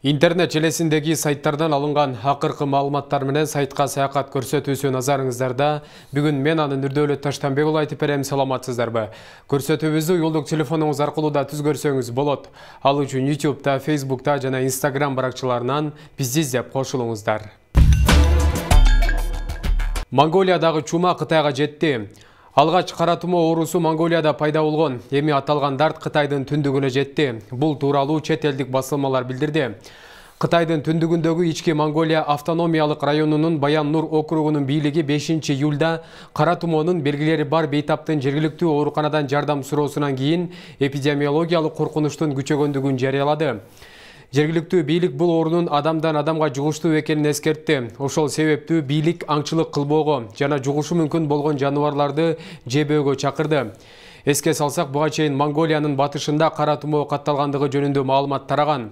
Интернет желесиндеги сайттардан алынган акыркы маалыматтар менен сайтка саякат көрсөтүүсү назарыңыздарда. Бүгүн мен анын Нурдөөлөт Таштанбек уулу айтып берем, саламатсыздарбы? Көрсөтүүбүздү уюлдук телефонуңуз аркылуу да түз көрсөңүз болот. Ал үчүн YouTube'да, Facebook'та жана Instagram баракчаларынан бизди издеп кошулуңуздар. Монголиядагы чума Кытайга жетти. Алгач кара тумо оорусу Монголияда пайда болгон. Эми аталган дарт Кытайдын түндүгүнө жетти. Бул тууралуу чет элдик басылмалар билдирди. Кытайдын түндүгүндөгү Ички Монголия автономиялык районунун Баян-Нур округунун бийлиги 5-июлда кара тумоонун белгилери бар бейтаптын жергиликтүү ооруканадан жардам суроосунан кийин эпидемиологиялык коркунучтун күчөгөндүгүн жарыялады. Жергиликтүү бийлик бул оорунун адамдан адамга жугуштуу экенин эскертти. Ошол себептүү бийлик аңчылык кылбоого жана жугушу мүмкүн болгон жаныбарларды жебөөгө чакырды. Эске салсак, буга чейин Монголиянын батышында кара тумоо катталгандыгы жөнүндө маалымат тараган.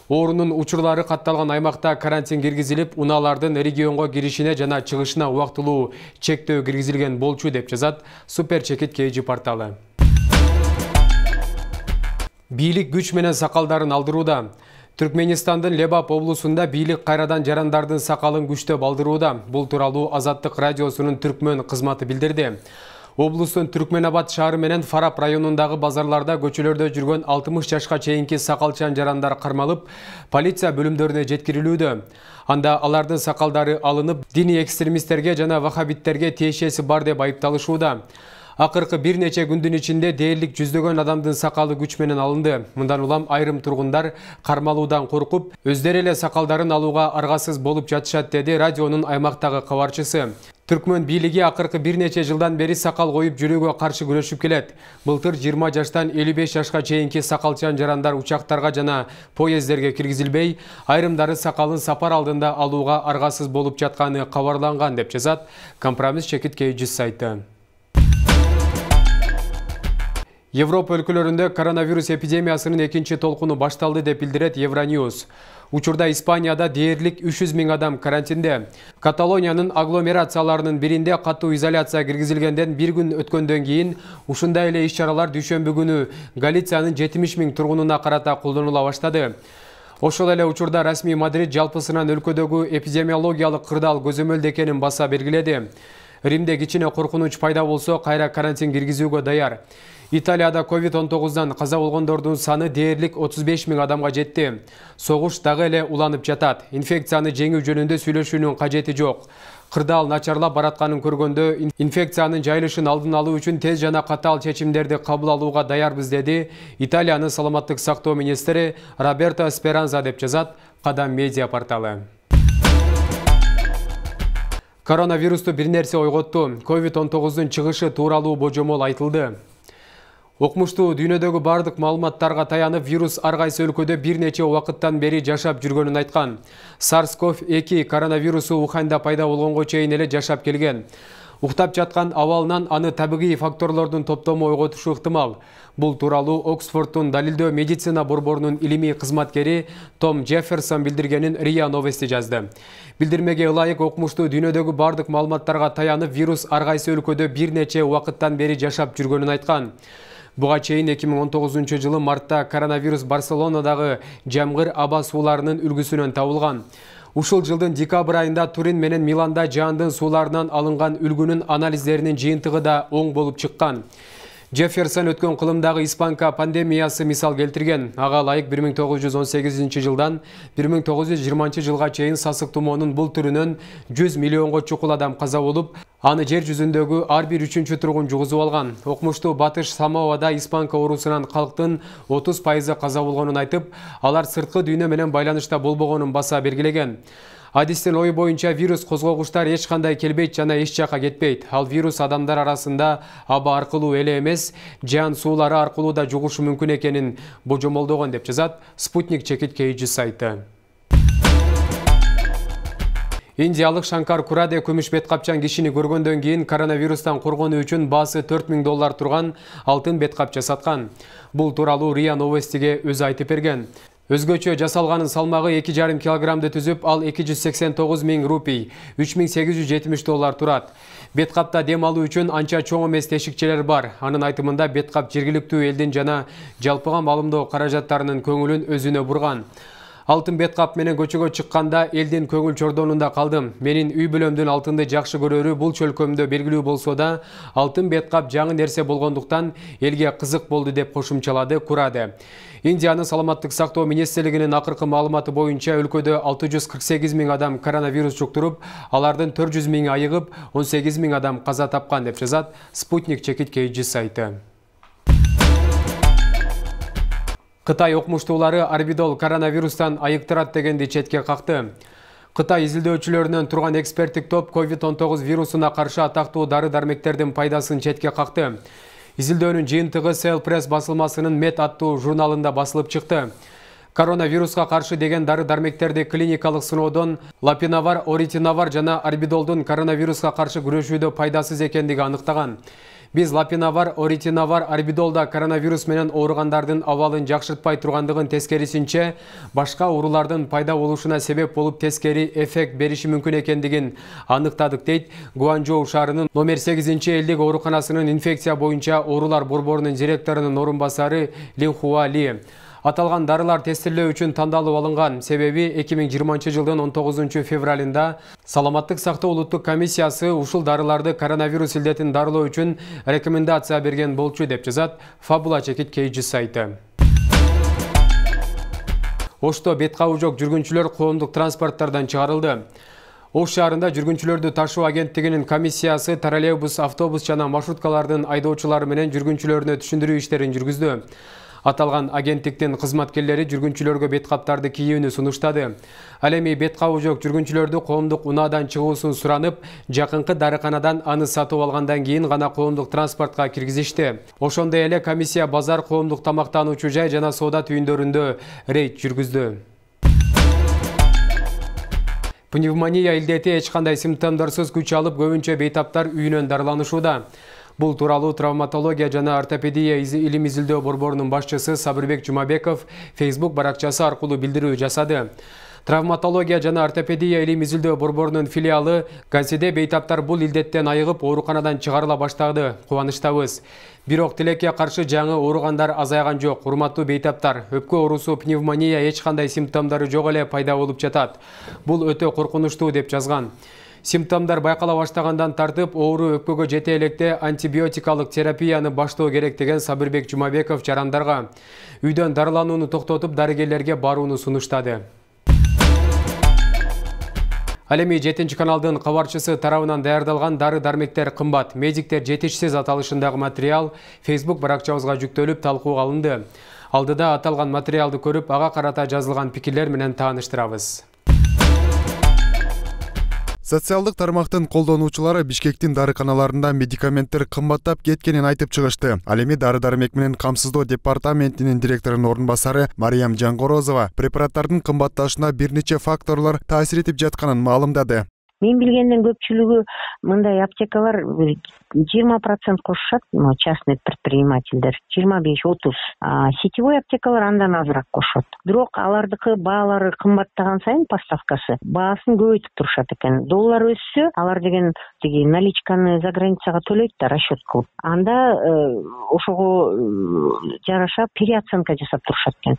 Оорунун учурлары катталган аймакта карантин киргизилип, унаалардын регионго киришине жана чыгышына убактылуу чектөө киргизилген болчу, деп жазат Супер Чекит KG порталы. Бийлик күч менен сакалдарын алдырууда. Түркменистандын Лебап облусунда бийлик кайрадан жарандардын сакалын күчтөп алдырууда. Бул тууралуу Азаттык радиосунун түркмөн кызматы билдирди. Облустун Түркменабад шаары менен Фарап районундагы базарларда көчөлөрдө жүргөн 60 жашка чейинки сакалчан жарандар кармалып, полиция бөлүмдөрүнө жеткирилүүдө. Анда алардын сакалдары алынып, диний экстремисттерге жана вахабиттерге тиешеси бар деп айыпталышууда. Акыркы бир нече күндүн ичинде дээрлик жүздөгөн адамдын сакалы күч менен алынды. Мындан улам айрым тургундар кармалуудан коркуп, өздөрү эле сакалдарын алууга аргасыз болуп жатышат, деди радионун аймактагы кабарчысы. Түркмөн бийлиги акыркы бир нече жылдан бери сакал коюп жүрүүгө каршы күрөшүп келет. Былтыр 20 жаштан 55 жашка чейинки сакалчан жарандар учактарга жана поездерге киргизилбей, айрымдары сакалын сапар алдында алууга аргасыз болуп жатканы кабарланган, деп жазат Компромисс Чекит KG сайты. Европа өлкөлөрүндө коронавирус эпидемиясынын экинчи толкуну башталды, деп билдирет Евроньюз. Учурда Испанияда дээрлик 300 000 адам карантинде. Каталониянын агломерацияларынын биринде катуу изоляция киргизилгенден бир күн өткөндөн кийин ушундай эле иш-чаралар дүйшөмбү күнү Галициянын 70 000 тургунуна карата колдонула баштады. Ошол эле учурда расмий Мадрид жалпысынан өлкөдөгү эпидемиологиялык кырдаал көзөмөлдө экенин баса белгиледи. Римде кичине коркунуч пайда болсо, кайра карантин киргизүүгө даяр. Италияда COVID-19-дан каза болгондордун саны дээрлик 35 000 адамга жетти. Согуш дагы эле уланып жатат. Инфекцияны жеңүү жөнүндө сүйлөшүүнүн кажети жок. Кырдаал начарлап баратканын көргөндө, инфекциянын жайылышын алдын алуу үчүн тез жана катаал чечимдерди кабыл алууга даярбыз, деди Италиянын саламаттык сактоо министри Роберто Сперанза, деп жазат Кадам медиа порталы. Коронавирусту бир нерсе ойготту. COVID-19-дун чыгышы тууралуу божомол айтылды. Окмуштуу дүйнөдөгү бардык маалыматтарга таянып, вирус ар кайсы өлкөдө бир нече убакыттан бери жашап жүргөнүн айткан. SARS-CoV-2 коронавирусу Уханьда пайда болгонго чейин эле жашап келген. Уктап жаткан абалынан аны табигый факторлордун топтому ойготушу ыктымал. Бул тууралуу Оксфордтун далилдөө медицина борборунун илимий кызматкери Том Джефферсон билдиргенин РИА Новости жазды. Билдирмеге ылайык, окмуштуу дүйнөдөгү бардык маалыматтарга таянып, вирус ар кайсы өлкөдө бир нече убакыттан бери жашап жүргөнүн айткан. Буга чейин 2019-жылы мартта коронавирус Барселонадагы жамгыр аба сууларынын үлгүсүнөн табылган. Ушул жылдын декабрь айында Турин менен Миланда жаандын сууларынан алынган үлгүнүн анализдеринин жыйынтыгы да оң болуп чыккан. Джефферсон өткөн кылымдагы испанка пандемиясы мисал келтирген. Ага ылайык 1918-жылдан 1920 жылга чейин сасык тумоонун бул түрүнөн 100 миллионго чукул адам каза болуп, аны жер жүзүндөгү ар бир 3-чү тургун жугузуп алган. Окмуштуу Батыш Самоада испанка оорусунан калктын 30% каза болгонун айтып, алар сырткы дүйнө менен байланышта болбогонун баса белгилеген. Адистин ою боюнча, вирус козгогучтар эч кандай келбейт жана эч жака кетпейт. Ал вирус адамдар арасында аба аркылуу эле эмес, жан суулары аркылуу да жугушу мүмкүн экенин божомолдогон, деп жазат Спутник Чекит KG сайты. Индиялык Шанкар Кураде күмүш бет капчан кишини көргөндөн кийин коронавирустан коргонуу үчүн баасы $4000 турган алтын бет капча саткан. Бул тууралуу РИА Новостиге өзү айтып берген. Өзгөчө жасалганын салмагы 2,5 килограммды түзүп, ал 289 000 рупий, $3870 турат. Беткапта дем алуу үчүн анча чоң эмес тешикчелер бар. Анын айтымында беткап жергиликтүү элдин жана жалпыга маалымдоо каражаттарынын көңүлүн өзүнө бурган. Алтын бет кап менен көчөгө чыкканда элдин көңүл чордонунда калдым. Менин үй бүлөмдүн алтынды жакшы көрөрү бул чөлкөмдө белгилүү болсо да, алтын бет кап жаңы нерсе болгондуктан элге кызык болду деп кошумчалады Кураде. Индиянын саламаттык сактоо министрлигинин акыркы маалыматы боюнча өлкөдө 648 000 адам коронавирус жуктуруп, алардын 400 000 айыгып, 18 000 адам каза тапкан деп жазат Спутник чекит KG сайты. Кытай окумуштуулары орбидол коронавирустан айыктырат дегенди четке какты. Кытай изилдөөчүлөрүнөн турган эксперттик топ COVID-19 вирусуна каршы атактуу дары-дармектердин пайдасын четке какты. Изилдөөнүн жыйынтыгы Cell Press басылмасынын Med аттуу журналында басылып чыкты. Коронавируска каршы деген дары-дармектерди клиникалык сыноодон лапинавар, оритинавар жана орбидолдун коронавируска каршы күрөшүүдө пайдасыз экендиги аныктаган. Биз лапинавар, оритинавар, орбидолда коронавирус менен ооругандардын абалын жакшыртпай тургандыгын тескерисинче, башка оорулардын пайда болушуна себеп болуп тескери эффект бериши мүмкүн экендигин аныктадык дейт Гуанчжоу шаарынын номер 8-элдик ооруканасынын инфекция боюнча оорулар борборунун директорунун орун басары Линхуа Ли. Аталган дарылар тестирлөө үчүн тандалып алынган, себеби 2020 жылдын 19 февралында Саламаттык сактоо улуттук комиссиясы ушул дарыларды коронавирус илдетин дарылоо үчүн рекомендация берген болчу деп жазат Фабула чекит KG сайты. Ошто бет кабы жок жүргүнчүлөр коомдук транспорттардан чыгарылды. Ош шаарында жүргүнчүлөрдү ташуу агенттигинин комиссиясы троллейбус, автобус жана маршруткалардын айдоочулары менен жүргүнчүлөрүнө түшүндүрүү иштерин жүргүздү. Аталган агенттиктин кызматкерлери жүргүнчүлөргө бет каптарды кийүүнү сунуштады. Ал эми бет кабы жок жүргүнчүлөрдү коомдук унаадан чыгуусун суранып, жакынкы дарыканадан аны сатып алгандан кийин гана коомдук транспортко киргизишти. Ошондой эле комиссия базар, коомдук тамактануучу жай жана соода түйүндөрүндө рейд жүргүздү. Пневмония илдети эч кандай симптомдорсуз күч алып, көбүнчө бейтаптар үйүнөн дарыланышууда. Бул тууралуу травматология жана ортопедия илим изилдөө борборунун башчысы Сабырбек Жумабеков Facebook баракчасы аркылуу билдирүү жасады. Травматология жана ортопедия илим изилдөө борборунун филиалы Ганседе бейтаптар бул илдеттен айыгып, ооруканадан чыгарыла баштады. Кубанычтабыз. Бирок тилекке каршы жаңы ооругандар азайган жок. Урматтуу бейтаптар, өпкө оорусу пневмония эч кандай симптомдору жок эле пайда болуп жатат. Бул өтө коркунучтуу деп жазган. Симптомдар байкала баштагандан тартып, оору өпкөгө жете электе антибиотикалык терапияны баштоо керек деген Сабырбек Жумабеков жарандарга. Үйдөн дарыланууну токтотуп, дарыгерлерге барууну сунуштады. Ал эми 7-каналдын кабарчысы тарабынан даярдалган дары-дармектер кымбат, медиктер жетишсиз аталышындагы материал Facebook баракчабызга жүктөлүп талкууга алынды. Алдыда аталган материалды көрүп, ага карата жазылган пикирлер менен тааныштырабыз. Социалдык тармактын колдонуучулары Бишкектин дарыканаларында медикаменттер кымбаттап кеткенин айтып чыгышты. Ал эми дары-дармек менен камсыздоо департаментинин директорунун орун басары Мариям Жангорозова препараттардын кымбатташына бир нече факторлор таасир этип жатканын маалымдады. Мен билгенден көпчүлүгү мындай аптекалар 20% кошушат, частный предпринимательдер, 25-30. Сетевой аптекалар андан азыраак кошот. Бирок алардыкы баалары кымбаттаган сайын поставкасы, баасын көбөйтүп турушат экен. Доллар өссө, алар деген тиги наличканы за границага төлөйт да расчет кылып. Анда ошого жараша переоценка жасап турушат экен.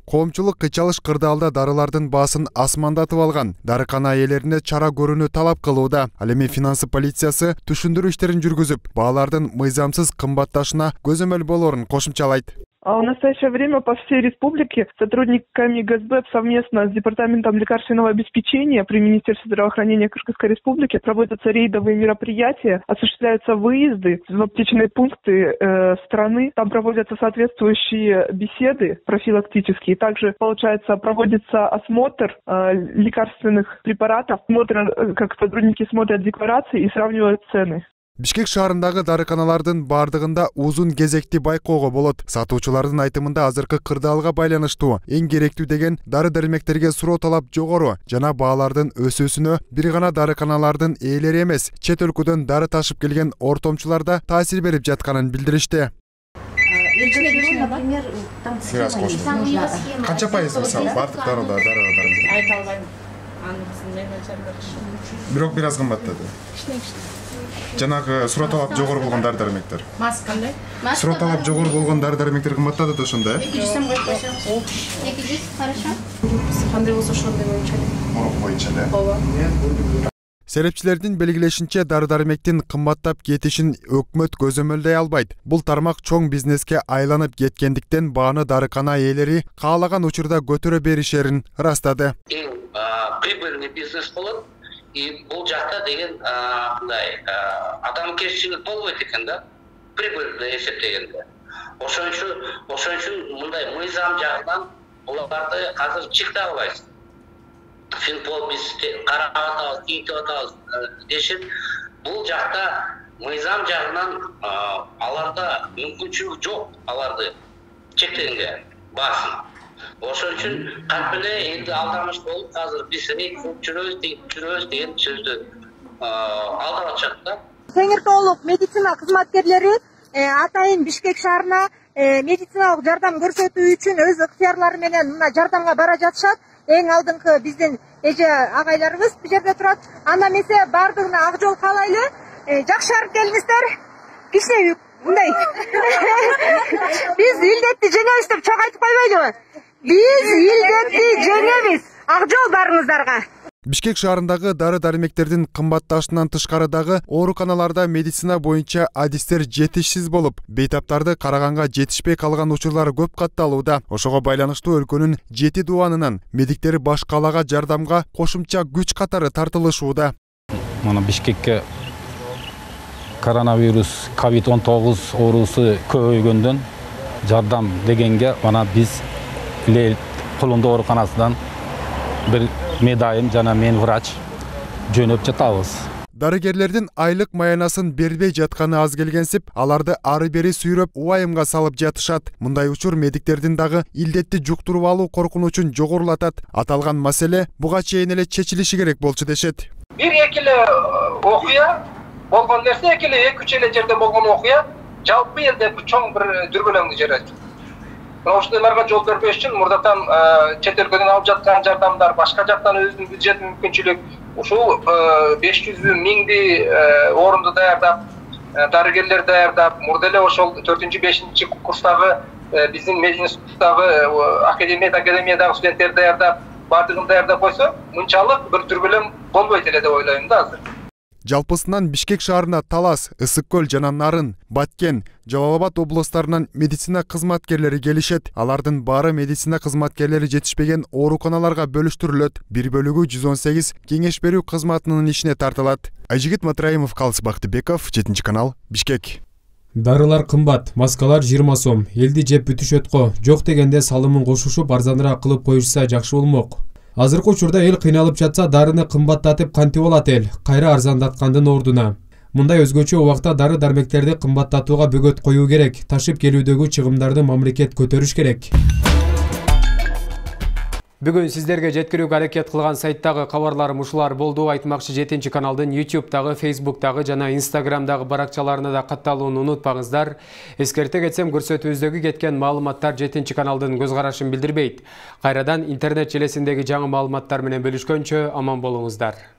Коомчулук кычалыш кырдаалда дарылардын баасын асмандатып алган. Дарыкана ээлерине чара көрүүнү талап кылууда. Ал эми финансы полициясы түшүндүрүү иштерин жүргүзүп, баалардын мыйзамсыз кымбатташына көзөмөл болоорун кошумчалайт. В настоящее время по всей республике сотрудниками ГСБ совместно с Департаментом лекарственного обеспечения при Министерстве здравоохранения Кыргызской Республики проводятся рейдовые мероприятия, осуществляются выезды в аптечные пункты страны, там проводятся соответствующие беседы профилактические, также, получается, проводится осмотр лекарственных препаратов, как сотрудники смотрят декларации и сравнивают цены. Бишкек шаарындагы дарыканалардын бардыгында узун кезекти байкоого болот. Сатуучулардын айтымында азыркы кырдаалга байланыштуу эң керектүү деген дары-дармектерге суроо талап жогору жана баалардын өсүүсүнө бир гана дарыканалардын ээлери эмес, чет өлкөдөн дары ташып келген ортомчулар да таасир берип жатканын билдиришти. Канча пайыз мисалы бардык дарыга? Айта албайм. Анын менеджерлер Бирок бир аз кымбаттады. Жанагы сурат талап жогору болгон дары-дармектер. Маскандай. Сурат талап жогору болгон дары-дармектер кымбаттады да ошондо, э? 200 сом коюп койсоңуз. 200, хорошо. Кандай болсо ошондой боюнча. Мурун боюнча эле. Ооба. Серепчилердин белгилешинче дары-дармектин кымбаттап кетишин өкмөт көзөмөлдөй албайт. Бул тармак чоң бизнеске айланып кеткендиктен бааны дарыкана ээлери каалаган учурда көтөрө беришерин ырастады. Прибыльный бизнес болот. И бул жакта деген мындай адамгерчилик болбойт экен да. Прибыльный эсептегенде. Ошон үчүн мындай мыйзам жагынан буларды азыр чыкта албайсыз. Финпол биз карап атабыз, кийинтип атабыз дешип, бул жакта мыйзам жагынан аларда мүмкүнчүлүк жок, аларды чектегенге баасын. Ошон үчүн кантип эле элди алдамыш болуп, азыр биз жүрөбүз деген сөздү алдап атышат да. Теңиртаулук медицина кызматкерлери атайын Бишкек шаарына медициналык жардам көрсөтүү үчүн өз ыктыярлары менен мына жардамга бара жатышат. Эң алдыңкы биздин эже агайларыбыз бул жерде турат. Анда эмесе бардыгына ак жол каалайлы. Жакшы барып келиңиздер. Кичине мындай. Биз илдетти жеңебиз деп чок айтып койбойлубу? Биз илдетти жеңебиз. Ак жол барыңыздарга. Бишкек шаарындагы дары-дармектердин кымбатташынан тышкары дагы ооруканаларда медицина боюнча адистер жетишсиз болуп, бейтаптарды караганга жетишпей калган учурлар көп катталууда. Ошого байланыштуу өлкөнүн 7 дубанынан медиктери баш калаага жардамга кошумча күч катары тартылышууда. Мына Бишкекке коронавирус COVID-19 оорусу көбөйгөндөн жардам дегенге мана биз Кулунду ооруканасынан бир медайым жана мен врач жөнөп жатабыз. Дарыгерлердин айлык маянасын бербей жатканы аз келгенсип, аларды ары бери сүйрөп уайымга салып жатышат. Мындай учур медиктердин дагы илдетти жуктуруп алуу коркунучун жогорулатат. Аталган маселе буга чейин эле чечилиши керек болчу дешет. Бир-эки эле окуя болгон нерсе, эки эле 2-3 эле жерде болгон окуя жалпы элде чоң бир дүрбөлөңдү жаратат. Ошондойлорго жол бербеш үчүн мурдатан чет өлкөдөн алып жаткан жардамдар, башка жактан өзүнүн бюджет мүмкүнчүлүк, ушул 500.000 орунду даярдап, дарыгерлер даярдап, мурда эле ошол 4-5 курстагы биздин мединституттагы академиядагы студенттерди даярдап, бардыгын даярдап койсо, мынчалык бир дүрбөлөң болбойт эле деп ойлойм да азыр. Жалпысынан Бишкек шаарына Талас, Ысык көл жана Нарын, Баткен, Жалал Абад облустарынан медицина кызматкерлери келишет. Алардын баары медицина кызматкерлери жетишпеген ооруканаларга бөлүштүрүлөт. Бир бөлүгү 118 кеңеш берүү кызматынын ишине тартылат. Айжигит Матраимов, Калыс Бактыбеков, 7 канал, Бишкек. Дарылар кымбат, маскалар 20 сом. Элди жеп бүтүшөт го. Жок дегенде салымын кошушуп арзаныраак кылып коюшса жакшы болмок. Азыркы учурда эл кыйналып жатса, дарыны кымбаттатып кантип болот эл? Кайра арзандаткандын ордуна. Мындай өзгөчө убакта дары-дармектерди кымбаттатууга бөгөт коюу керек. Ташып келүүдөгү чыгымдарды мамлекет көтөрүш керек. Бүгүн сиздерге жеткирүүгө аракет кылган сайттагы кабарларым ушулар болду. Айтмакчы 7 каналдын YouTube'дагы, Facebook'тагы жана Instagram'дагы баракчаларына да катталууну унутпаңыздар. Эскерте кетсем, көрсөтүүбүздөгү кеткен маалыматтар 7 каналдын көз карашын билдирбейт. Кайрадан интернет желесиндеги жаңы маалыматтар менен бөлүшкөнчө аман болуңуздар.